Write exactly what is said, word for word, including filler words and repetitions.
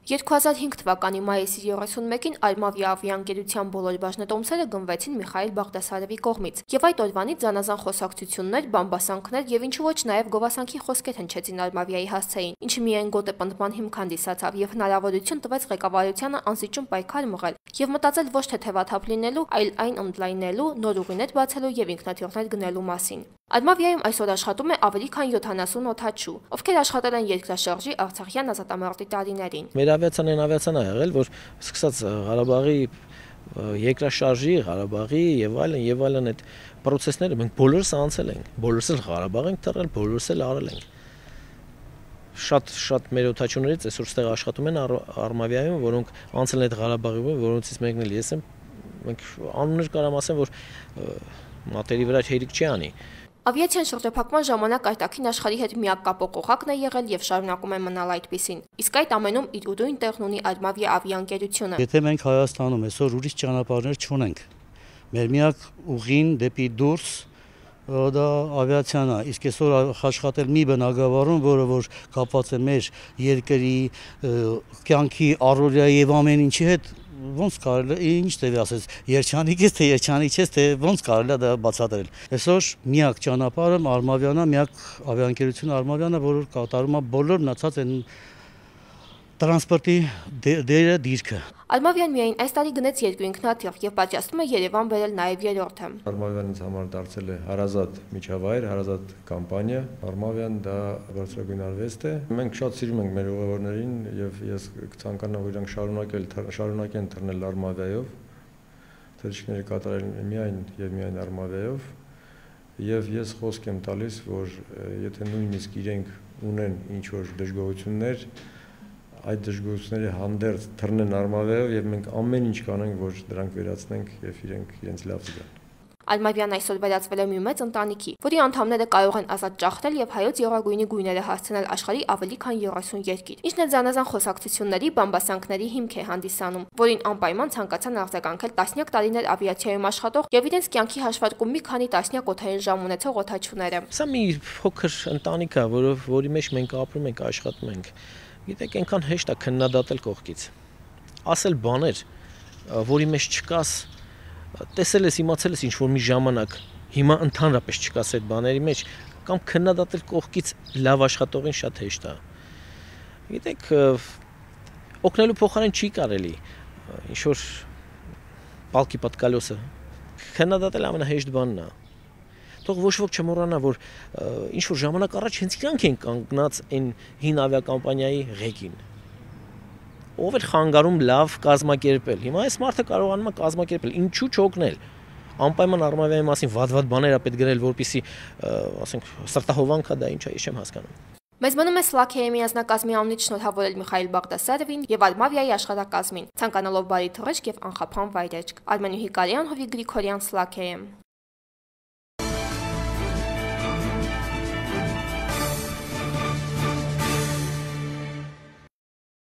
երկու հազար հինգ թվականի մայիսի երեսունմեկին Almavia ավիաընկերության բոլոր բաժնետոմսերը գնվեցին Միխայիլ Բաղդասարևի կողմից, եւ այդ օրվանից զանազան խոսակցություններ, բամբասանքներ եւ ինչու ոչ նաեւ գովասանքի խոսքեր հնչեցին Almavia-ի հասցեին, ինչը միայն գոտեպնդման հիմք հանդիսացավ եւ հնարավորություն տվեց ղեկավարությանը անզիջում պայքար մղել եւ մտածել ոչ թե թեվաթափ լինելու, այլ այն ընդլայնելու, նոր ուղիներ բացելու եւ ինքնաթիռներ գնելու մասին։ Almavia-ում այսօր աշխատում է ավելի քան յոթանասուն օդաչու, ովքեր աշխատել են երկրաշարժի Արցախյան ազատամարտի տարիներին։ Մեր ավիացիան այն ավիացիան է եղել, որ սկսած Ղարաբաղի երկրաշարժի, Ղարաբաղի եւ այլն եւ այլն այդ process-ները մենք բոլորս անցել ենք, բոլորս էլ Ղարաբաղ ենք թռել, բոլորս էլ արել ենք։ Շատ շատ մեր օդաչուներից այսօր ստեղ աշխատում են Almavia-ում, որոնք անցել են այդ Ղարաբաղի, որոնցից մեկն էլ ես եմ։ Մենք անուններ կարամ ասեմ, որ մատերի վրա հերիք չի անի։ Ավիացիան շրջափակման ժամանակ արտաքին աշխարհի հետ միակ կապող օղակն է եղել եւ շարունակում է մնալ այդպիսին։ Իսկ այդ ամենում իր ուրույն տեղն ունի Almavia ավիաընկերությունը։ Եթե մենք Հայաստանում այսօր ուրիշ ճանապարհներ չունենք, մեր միակ ուղին դեպի դուրս դա ավիացիան է, իսկ այսօր աշխատել մի բնակավարում, որը որ կապված է մեր երկրի կյանքի առօրյա եւ ամեն ինչի հետ, ոնց կարելի է ինչ տևի ասես երջանիկ ես թե երջանիկ չես թե ոնց կարելի է դա բացատրել։ Այսօր միակ ճանապարհը Almavia-ն է, միակ ավիաընկերությունը Almavia-ն է, որը կատարում է բոլոր մնացած այն տրանսպորտի դերը դիրքը։ Almavia-ն միայն այս տարի գնեց երկու ինքնաթիռ եւ պատրաստում է Երևան բերել նաեւ երրորդը։ Almavia-ն ինձ համար դարձել է հարազատ միջավայր, հարազատ կամպանիա։ Almavia-ն դա բարձրագույն արվեստ է։ Մենք շատ սիրում ենք մեր ուղևորներին եւ ես կցանկանամ, որ իրանք շարունակել շարունակեն թռնել Almavia-ով։ Թռիչքները կատարել միայն եւ միայն Almavia-ով։ Եվ ես խոսք եմ տալիս, որ եթե նույնիսկ իրենք ունեն ինչ որ դժգոհություններ, այդ դժգոհությունների հանդերձ թռնեն Almavia-ով եւ մենք ամեն ինչ կանենք, որ դրանք վերացնենք եւ իրենք իրենց լավ զգան։ Almavia-ն այսօր վերածվել է մի մեծ ընտանիքի, որի անդամները կարող են ազատ ճախտել եւ հայոց եռագույնի գույները հասցնել աշխարհի ավելի քան երեսուն երկիր։ Ինչն էլ զանազան խոսակցությունների, բամբասանքների հիմք է հանդիսանում, որին անպայման ցանկացան արձագանքել տասնյակ տարիներ ավիացիայում աշխատող եւ իրենց կյանքի հաշվարկում մի քանի տասնյակ օդային ժամ ունեցող օդաչուները։ Սա մի փոքր ընտանիք է, որով որի մեջ մենք ապրում ենք, աշխատում ենք։ Գիտեք, այնքան հեշտ է քննադատել կողքից։ Ասել բաներ, որի մեջ չկաս, տեսել ես, իմացել ես ինչ-որ մի ժամանակ, հիմա ընդհանրապես չկաս այդ բաների մեջ, կամ քննադատել կողքից լավ աշխատողին շատ հեշտ է։ Գիտեք, օգնելու փոխարեն չի կարելի, ինչ-որ պալկի պատկալոսը, քննադատել ամենահեշտ բանն է։ Թող ոչ ոք չմոռանա, որ ինչ որ ժամանակ առաջ հենց իրանք են կանգնած այն հին ավիակամպանիայի ղեկին։ Ով էր խանգարում լավ կազմակերպել։ Հիմա այս մարդը կարողանում է կազմակերպել, ինչու չօգնել։ Անպայման Almavia-ի մասին վատ-վատ բաներ է պետք գրել, որպեսզի, ասենք, սրտահովանք է դա, ինչ է, ես չեմ հասկանում։ Մեզ մնում է Սլաքեյի միանձնակազմի անունից շնորհավորել Միխայիլ Բաղդասարևին եւ Almavia-ի աշխատակազմին, ցանկանալով բարի թռիչք եւ անխափան վայրեջք։ Արմեն Հիկարյան, Հովիկ Գրիգորյան, Սլաքեյ։